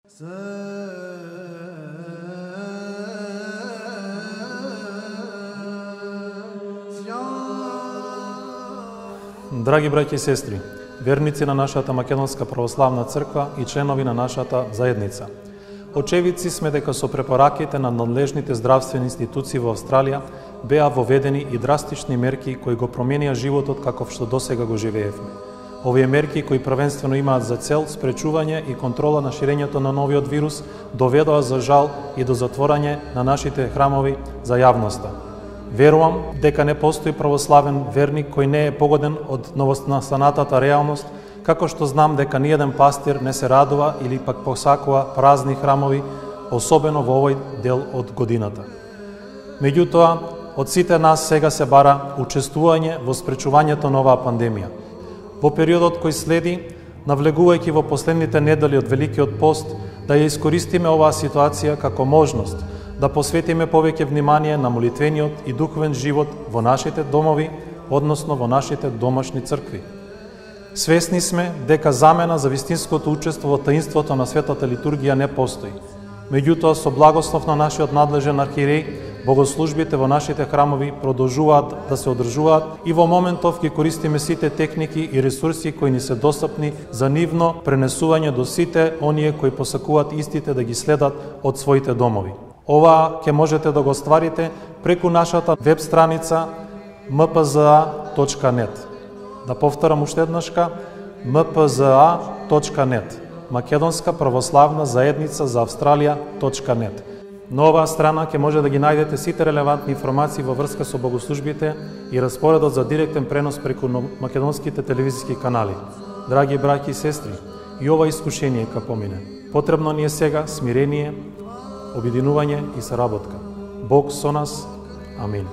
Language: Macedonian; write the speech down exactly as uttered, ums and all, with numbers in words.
Драги браќи и сестри, верници на нашата Македонска православна црква и членови на нашата заедница, очевидци сме дека со препораките на надлежните здравствени институции во Австралија беа воведени и драстични мерки кои го променија животот каков што досега го живеевме. Овие мерки, кои првенствено имаат за цел спречување и контрола на ширењето на новиот вирус, доведоа за жал и до затворање на нашите храмови за јавноста. Верувам дека не постои православен верник кој не е погоден од новонастанатата реалност, како што знам дека ниеден пастир не се радува или пак посакува празни храмови, особено во овој дел од годината. Меѓутоа, од сите нас сега се бара учествување во спречувањето на оваа пандемија. Во периодот кој следи, навлегувајќи во последните недели од Великиот пост, да ја искористиме оваа ситуација како можност да посветиме повеќе внимание на молитвениот и духовен живот во нашите домови, односно во нашите домашни цркви. Свесни сме дека замена за вистинското учество во таинството на светата литургија не постои. Меѓутоа, со благослов на нашиот надлежен архиереј, богослужбите во нашите храмови продолжуваат да се одржуваат и во моментов ги користиме сите техники и ресурси кои ни се достапни за нивно пренесување до сите оние кои посакуваат истите да ги следат од своите домови. Ова ќе можете да го остварите преку нашата веб страница м п з а точка нет. Да повторам уште еднашка м п з а точка нет. Македонска православна заедница за Австралија точка нет. На оваа страна ќе може да ги најдете сите релевантни информации во врска со богослужбите и распоредот за директен пренос преку македонските телевизиски канали. Драги браќи и сестри, и ова искушение ка помине. Потребно ни е сега смирение, обединување и соработка. Бог со нас. Амин.